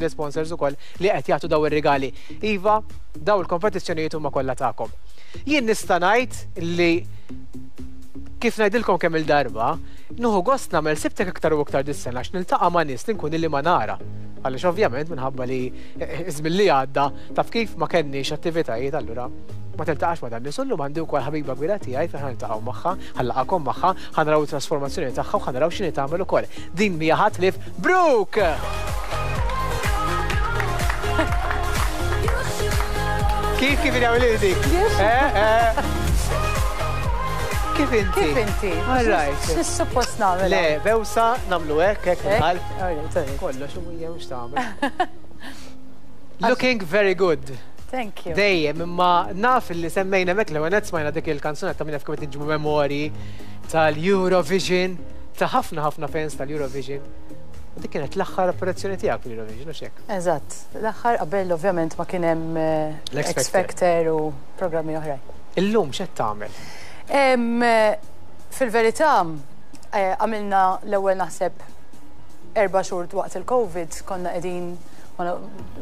L-isponsors ukoll li qed jagħtu daw ir-rigali. Iva, daw il-kompetizzjonijiet huma kollha tagħkom. Jien nista' ngħid li kif ngħidilkom kemm il-darba, nieħu gost nagħmel sibtek iktar u iktar dis-sena għax niltaqa' ma' nies li nkun ili ma nara. Għaliex ovvjament minħabba li iż-żmien li għadda taf kif ma kenniex attivitajiet allura ma tiltaqax ma' dan nies u llum għandi wkoll ħabiba kbira tiegħi fejn ħa niltaqgħu magħha, ħa nlaqgħakom magħha, ħa naraw it-trasformazzjoni tagħha u ħa naraw x'inhi tagħmel ukoll. Din mhija ħadd ħlief Brooke! Kif kif jagħmel dik? Eh, eh. Kif inti? Kif inti? All right. X'suppost nagħmel? Le, bewsa nagħmlu hekk hekk nħall. Kollox u hija mhux tagħmel. Looking very good. Thank you. Dejjem, imma naf li semmejna hemmhekk l-ewwel nett smajna dik il-kanzunetta minn kif qed niġbu memorji tal-Eurovision, ta' ħafna ħafna fans tal-Eurovision. U dik kienet l-aħħar apparizzjoni tiegħek fil-Eurovision, hux hekk? Eżatt, l-aħħar qabel ovvjament ma kien hemm eh, L-X X Factor u programmi oħrajn. Illum x'qed tagħmel? Em, Fil-verità, eh, għamilna l-ewwel naħseb erba' xhur waqt il-Covid konna qegħdin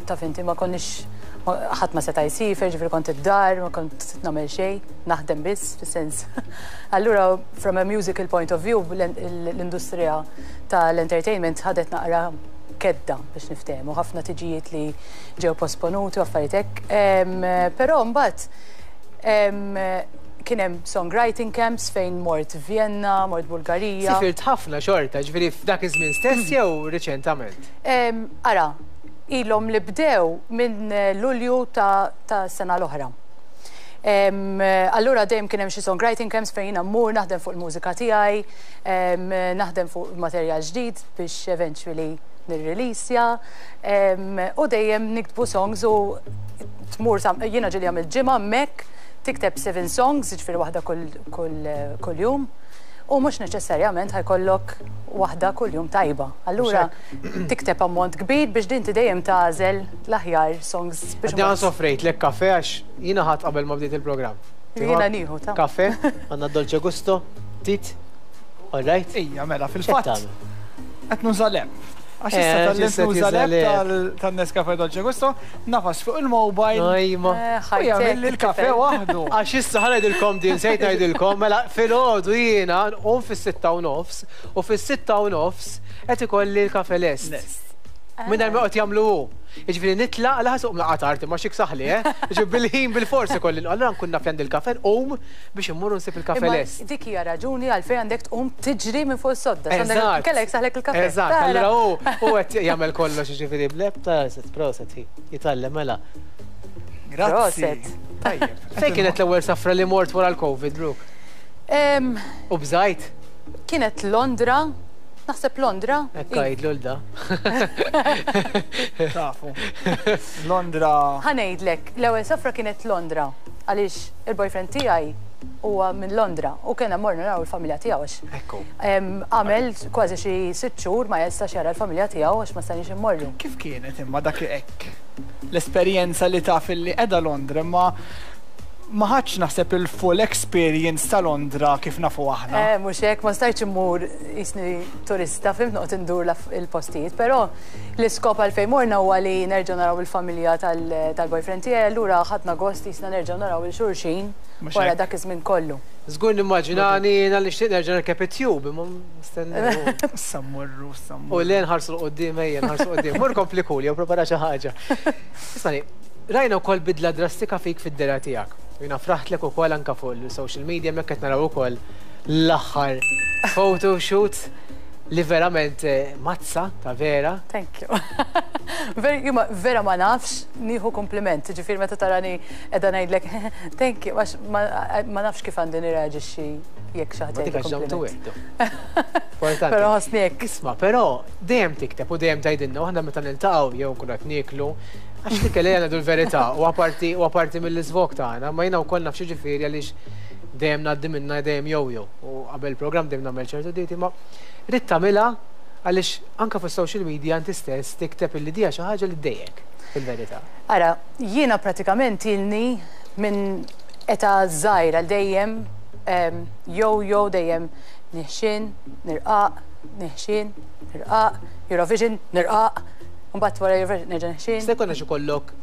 taf inti ma konniex ħadd ma seta' jsiefer, ġifieri kont id-dar, ma kont nagħmel xejn, naħdem biss, fis-sens. Allura from a musical point of view l-industrija tal-entertainment ħadet naqra kedda biex niftehmu, ħafna tiġijiet li ġew posponuti u affarijiet hekk. Però mbagħad kien hemm songwriting camps fejn mort Vienna, mort Bulgarija. Sifirt ħafna xorta, ġifieri f'dak iż-żmien stess jew riċentament? Ara, ilhom li bdew minn Lulju ta' sena l-oħra. Allura dejjem kien hemm xi songwriting camps fejn jiena mmur naħdem fuq il-mużika tiegħi, naħdem fuq materjal ġdid biex eventually nirrilisja u dejjem niktbu songs u tmur jiena ġieli għamilt ġimgħa hemmhekk tikteb seven songs, jiġifieri waħda kull jum, u mhux neċessarjament ħa jkollok waħda kull jum tajba. Allura tikteb ammont kbir biex din dejjem tagħżel l-aħjar songs biex. Għadni soffrejt lek kafe għax jiena ħadt qabel ma bdiet il-programm. Jiena nieħu ta' Kafe, għandna Dolce Gusto, tit, all right? Ija, mela, fil-fatt. Qed nuża l-app. Għax issa Eh, tal-lem issa nuża tuża l-app l-app. tan-Nescafe Dolce Gusto, nagħfas fuq il-mobile. Ajma. U jagħmel li l-kafe waħdu. Għax issa ħa ngħidilkom din, sejt ngħidilkom, mela filgħodu jiena nqum fis-6:30 u fis-6:30 qed ikolli l-kafe lest. Lest. Minn ma qed jagħmlu hu. Jiġifieri nitlaq la ħasuq mlaqa tard imma xik saħli, eh? Jiġifieri bil-ħin bil-forsi kolli. Allura nkun naf li għandi l-kafe nqum biex immur nsib il-kafe Imma lest. dik hija raġuni għalfejn għandek tqum tiġri minn fuq is-sodda. Eżatt. Kellek saħlek il-kafe. Eżatt, Tara. allura hu hu qed jagħmel kollox jiġifieri bl-app ta' set proset hi. Jitgħallem mela. Grazzi. Proset. Tajjeb. Fejn kienet l-ewwel safra li mort wara l-Covid, Brooke? Em, U bżajt? Kienet Londra, naħseb Londra. Ekk għidlu l-da. Tafu. Londra. Ħa ngħidlek, l-ewwel safra kienet Londra, għaliex il-boyfriend tiegħi huwa minn Londra u kena morna naraw il-familja tiegħu għax Ekku. għamel kważi xi 6 xhur ma jistax jara l-familja tiegħu għax ma stajniex immorru. Kif kienet imma dak hekk? L-esperjenza li taf li qiegħda Londra imma ma ħadx naħseb il-full experience ta' Londra kif nafu aħna. Eh, mhux hekk, ma stajtx immur jisni turista, fhimt noqgħod indur il-postijiet, però l-iskop għalfejn morna huwa li nerġgħu naraw il-familja tal-boyfriend tiegħi, allura ħadna gost jisna nerġgħu naraw lil xulxin Mhux wara hekk. dak iż-żmien kollu. Żgur nimmaġinani jiena li xtieq nerġa' nirkeb it-tube, imma nistennew. Issa mmorru, issa U mmorru. le nħarsu 'l quddiem ejja nħarsu 'l quddiem. Mur kompli kul jew prepara xi ħaġa. Ismani, rajna wkoll bidla drastika fik fid-dehra tiegħek. U jiena fraħtlek ukoll anke fuq il-social media hemmhekk qed naraw ukoll l-aħħar photoshoot li verament mazza ta' vera. Thank you. Vera, vera ma nafx nieħu kompliment, ġifieri meta tarani qiegħda ngħidlek thank you, għax ma nafx kif għandi nirreaġixxi jekk xi ħadd Ma dik jgħidli għax down to kompliment. earth. Importanti. Però ħossni hekk. Isma', però dejjem tikteb u dejjem tgħidilna u aħna meta niltaqgħu jew nkunu qed nieklu, għax dik li ngħidu l-verità u apparti u apparti mill-iżvog tagħna, ma jiena wkoll naf xi ġifieri għaliex dejjem ngħaddi minna dejjem jojo u qabel il-programm dejjem nagħmel ċertu dieti, ma rrid tagħmilha għaliex anke fuq social media inti stess tikteb illi dija xi ħaġa li ddejjek fil-verità. Ara, jiena pratikament ilni minn età żgħira dejjem yo-yo dejjem niħxin, nirqaq, niħxin, nirqaq, Eurovision, nirqaq. Mbagħad wara nerġa' neħxien. Se jkollna xi kollok.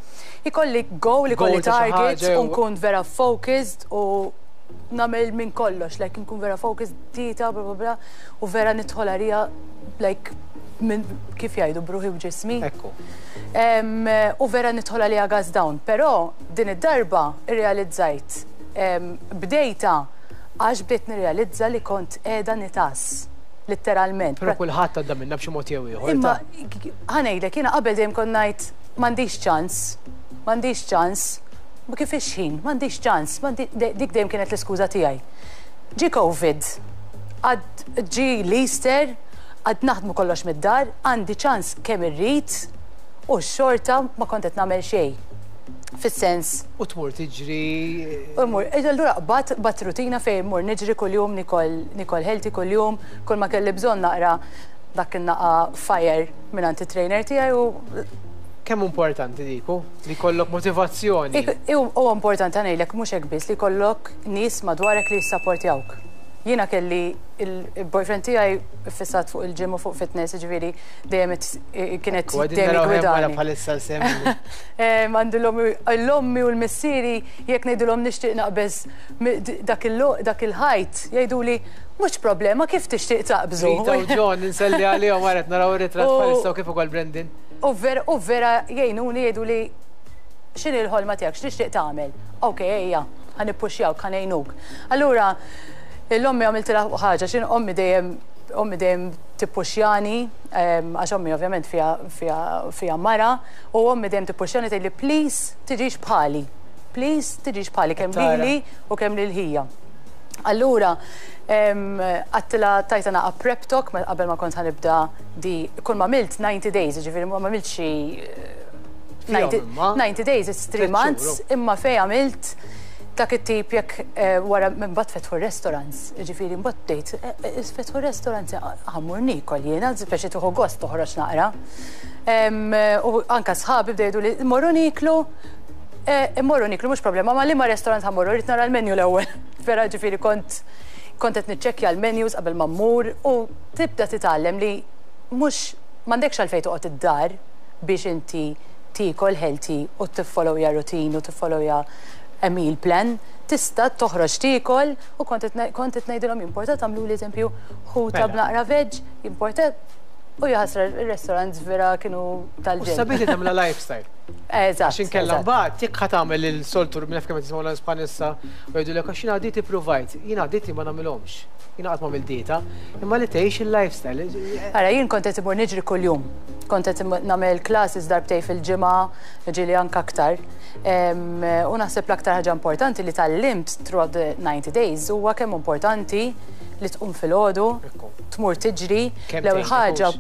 Ikolli goal, ikolli targets u nkun vera focused u nagħmel minn kollox, like nkun vera focused, dieta, bla bla bla, u vera nidħol għalija like minn kif jgħidu bruħi u ġismi. Ekku. U vera nidħol għalija gas down, però din id-darba irrealizzajt bdejta għax bdejt nirrealizza li kont qiegħda nitas litteralment. Però kulħadd għadda minnha b'xi mod jew ieħor. Imma ħa ngħidlek, jiena qabel dejjem kont ngħid m'għandix ċans, m'għandix ċans, ma kif ix-ħin, m'għandix ċans, dik dejjem kienet l-iskuża tiegħi. Ġie Covid, għad ġie l-Easter, għad naħdmu kollox mid-dar, għandi ċans kemm irrid u xorta ma kont qed nagħmel xejn. Fis-sens. U tmur tiġri. U mur, allura qbadt qbadt rutina fejn immur niġri kuljum, nikol nikol healthy kuljum, kull ma kelli bżonn naqra dak in-naqa fire mingħand it-trainer tiegħi u Kemm hu importanti dik hu? Li jkollok motivazzjoni. Huwa importanti ħa ngħidlek mhux hekk biss li jkollok nies madwarek li jissapportjawk. Jiena kelli il-boyfriend tiegħi ffissat fuq il-gym u fuq fitness, jiġifieri dejjem kienet dejjem jiggwidani. Bħalissa l-sem. Għandi l-ommi u l-missieri jekk ngħidilhom nixtieq naqbeż dak il-ħajt jgħiduli mhux problema kif tixtieq taqbżu. Rita u John inselli għalihom wara qed naraw ir-ritratt bħalissa u kif ukoll Brandon. U vera jgħinuni jgħiduli x'inhi l-ħolma tiegħek, x'tixtieq tagħmel? Ok, ejja, ħa nippuxjawk, ħa ngħinuk. Allura l-ommi għamiltilha ħaġa, x'in ommi dejjem ommi dejjem tippuxjani, għax ommi ovvjament fiha fiha fiha mara, U ommi dejjem tippuxxjani tgħidli please tiġix bħali. Please tiġix bħali kemm lili u kemm lil ħija. Allura għedtilha tajtha naqa' prep talk qabel ma kont ħa nibda di kull ma għamilt 90 days, jiġifieri ma għamilt xi 90 days it's 3 months imma fejn għamilt dak it-tip jekk wara mbagħad fetħu r-restaurants, jiġifieri mbagħad bdejt fetħu r-restaurants ħa mmur niekol jiena, speċi tieħu gost toħroġ naqra. U anka sħabi bdew jgħiduli mmorru nieklu, immorru nieklu mhux problema, ma liema restaurant ħa mmorru, rrid nara l-menu l-ewwel. Vera ġifieri kont kont qed niċċekkja l-menus qabel ma mmur u tibda titgħallem li mhux m'għandekx għalfejn toqgħod id-dar biex inti tiekol healthy u tiffollowja routine u tiffollowja a meal plan. Tista' toħroġ tiekol u kont qed kont qed ngħidilhom jimporta tagħmluli eżempju ħuta b'naqra veg, jimporta U jaħasra r-restaurants vera kienu tal-ġenn. U sabiħ li tagħmilha lifestyle. Eżatt. Għax inkella mbagħad jekk ħa tagħmel il-soltu minn kemm qed jisimgħu bħalissa u jgħidulek għax jiena dieti ppruvajt, jiena dieti ma nagħmilhomx. Jiena qatt m'għamilt dieta, imma li tgħix il-lifestyle. Ara jien kont qed imur niġri kuljum. Kont qed nagħmel classes darbtejn fil-ġimgħa, ġieli anke aktar. U naħseb l-aktar ħaġa importanti li tgħallimt throughout the 90 days huwa kemm importanti li tqum filgħodu, tmur tiġri, l-ewwel ħaġa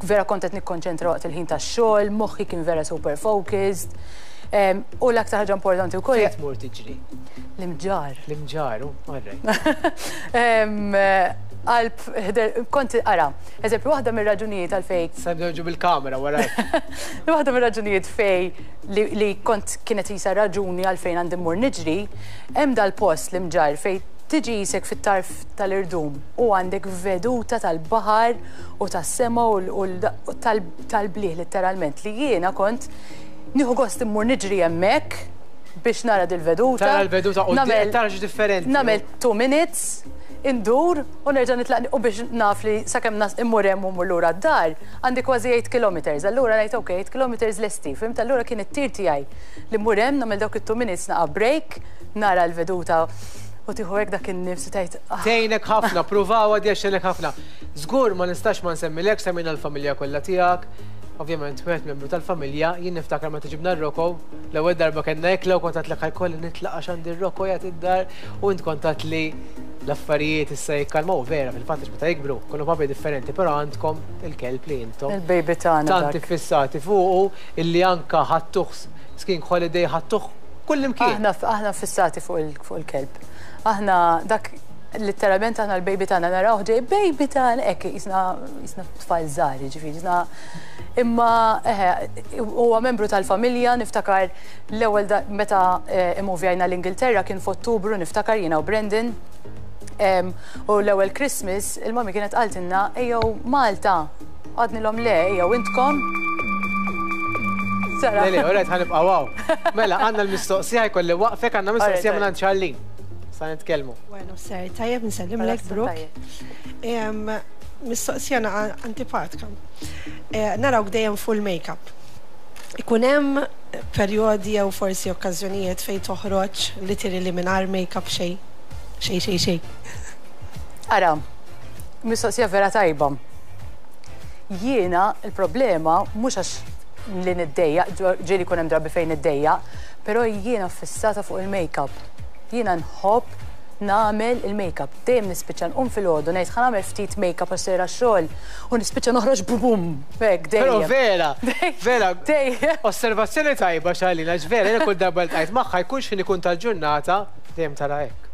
vera kont qed nikkonċentra waqt il-ħin tax-xogħol, moħħi kien vera super focused. U l-aktar ħaġa importanti wkoll. Fejn tmur tiġri? L-Imġarr. L-Imġarr, all right. Qalb, kont ara, eżempju, waħda mir-raġunijiet għalfejn. Se nibdew bil-kamera warajk. Waħda mir-raġunijiet fej li kont kienet qisha raġuni għalfejn għandi mmur niġri, hemm dal-post l-Imġarr fejn tiġi qisek fit-tarf tal-irdum u għandek veduta tal-baħar u tas-sema u tal-blieh litteralment li jiena kont nieħu gost immur niġri hemmhekk biex nara dil-veduta. Tara l-veduta u tara xi differenti. Nagħmel 2 minutes, indur u nerġa' nitlaq u biex naf li sakemm immur hemm u mmur lura d-dar għandi kważi 8 kilometers. Allura ngħid ok, 8 kilometers lesti, fhimt? Allura kien it-tir tiegħi li mmur hemm nagħmel dawk it-2 minutes naqa' break, nara l-veduta U tieħu hekk dak in-nifs u tgħid ah. Tgħinek ħafna, pruvawha di għax tgħinek ħafna. Żgur ma nistax ma nsemmilekx, semmejna l-familja kollha tiegħek. Ovvjament wieħed membru tal-familja, jien niftakar meta ġibna r-Rocco, l-ewwel darba kellna ikla u kont għedtlek ħa jkolli nitlaq għax għandi r-Rocco qiegħed id-dar u int kont għedtli l-affarijiet issa jikkalmaw vera fil-fatt għax meta jikbru jkunu papi differenti, però għandkom il-kelb li intom Il-baby tagħna tant iffissati fuqu illi anka ħadtuh skiing holiday ħadtuh kullimkien. Aħna aħna ffissati fuq il-kelb. Aħna dak litteralment aħna l-baby tagħna narawh ġej baby tagħna hekk qisna qisna tfal żgħar jiġifieri qisna imma eħe huwa membru tal-familja niftakar l-ewwel meta immuvjajna l-Ingilterra kien f'Ottubru niftakar jiena u Brandon. U l-ewwel Christmas il-mummy kienet qaltilna ejjew Malta. Għadnilhom le ejjew intkom. Tara. Le, le, alright, ħa nibqgħu hawn. Mela, għandna l-mistoqsija jkolli waqfek, għandna mistoqsija minn Charlene. Sa nitkellmu. Bueno, ser, tajjeb nsellimlek Brooke. Mistoqsija naqa antipatka. Eh, narawk dejjem full make-up. Ikun hemm perjodi jew forsi okkażjonijiet fejn toħroġ literally mingħajr make-up xejn. Xejn, xejn, xejn. Ara, mistoqsija vera tajba. Jiena il-problema mhux għax li niddejjaq, ġieli jkun hemm drabi fejn niddejjaq, però jiena fissata fuq il-make-up. Jiena nħobb nagħmel il-make-up. Dejjem nispiċċa nqum filgħodu ngħid ħa nagħmel ftit make-up għax sejra x-xogħol u nispiċċa noħroġ bum hekk Però dejjem. vera, vera, Dejjem. osservazzjoni tajba Charlene, għax vera, jiena kull darba li ltqajt magħha jkun x'ħin ikun tal-ġurnata, dejjem tara hekk.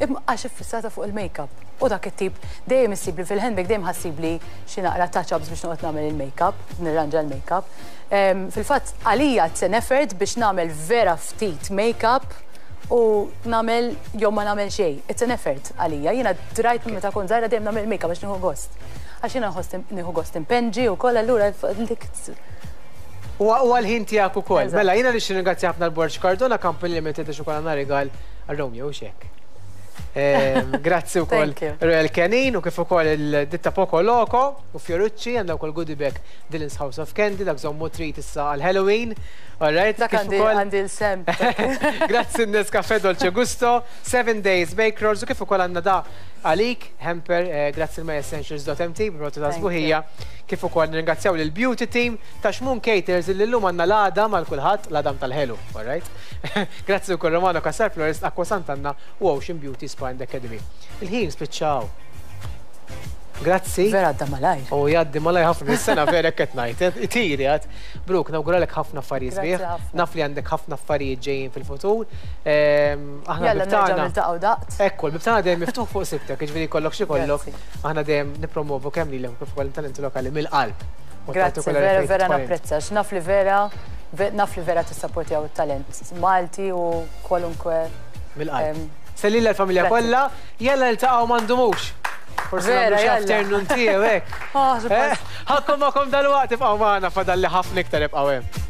Imma għax iffissata fuq il-make-up. U dak it-tip dejjem issibli fil-handbag dejjem ħassibli xi naqra touch-ups biex noqgħod nagħmel il-make-up, nirranġa l-make-up. Fil-fatt għalija it's an effort biex nagħmel vera ftit make-up u nagħmel jew ma nagħmel xejn. It's an effort għalija. Jiena drajt minn meta kont żgħira dejjem nagħmel make-up biex nieħu gost. Għax jiena nħoss nieħu gost impenġi wkoll allura dik U għal-ħin tiegħek ukoll. Eżatt. Mela, jiena nixtieq ringrazzja ħafna l-Borġ Cardona Company Limited għax ukoll għandna rigal għal Romeo u xek. Grazzi wkoll Thank you. Royal Canin u kif ukoll il-ditta Poco Loco u Fiorucci għandha wkoll goodie bag Dylan's House of Candy dak żommu trid issa għal Halloween. All right, Dak kif għandi ukoll għandi l-sem. Grazzi n-Nescafe Dolce Gusto, 7 Days Bake Rolls u kif ukoll għandna da għalik, hamper, grazzi l-myessentials.mt, prodotti ta' Thank sbuħija, kif ukoll nirringrazzjaw lil Beauty Team ta' Xmun Caters li llum għandna l-għadam għal kulħadd, l-għadam tal-ħelu, all right? Grazzi wkoll Romano Cassar Florist, Aqua Sant'Anna u Ocean Beauty Spa and Academy. Il-ħin spiċċaw. Grazzi. Vera għadda malajr. U jgħaddi malajr ħafna is-sena vera qed ngħid. Itiri għad. Brooke, nawguralek ħafna affarijiet Grazzi sbieħ. ħafna. Naf li għandek ħafna affarijiet ġejjin fil-futur. Aħna Jalla nerġa' bibtana. niltaqgħu daqt. Ekku, l-bib tagħna dejjem miftuħ fuq sibtek, jiġifieri jkollok xi kollok. Grazzi. Aħna dejjem nippromovu kemm lilek u kif ukoll talenti lokali mill-qalb. U Grazzi, partikolari vera, fejn vera tidħol int. napprezza. Naf li vera, naf li vera tissapportjaw it-talent Malti u kwalunkwe. Mill-qalb. Em, Sellili l-familja Grazzi. kollha, jalla niltaqgħu ma ndumux. Forsi Vera, nagħmlu xi jalla. afternoon tea hekk. Ah, suppost. Ħakkom magħkom dal-waqt ibqgħu magħna fadalli ħafna iktar ibqgħu hemm.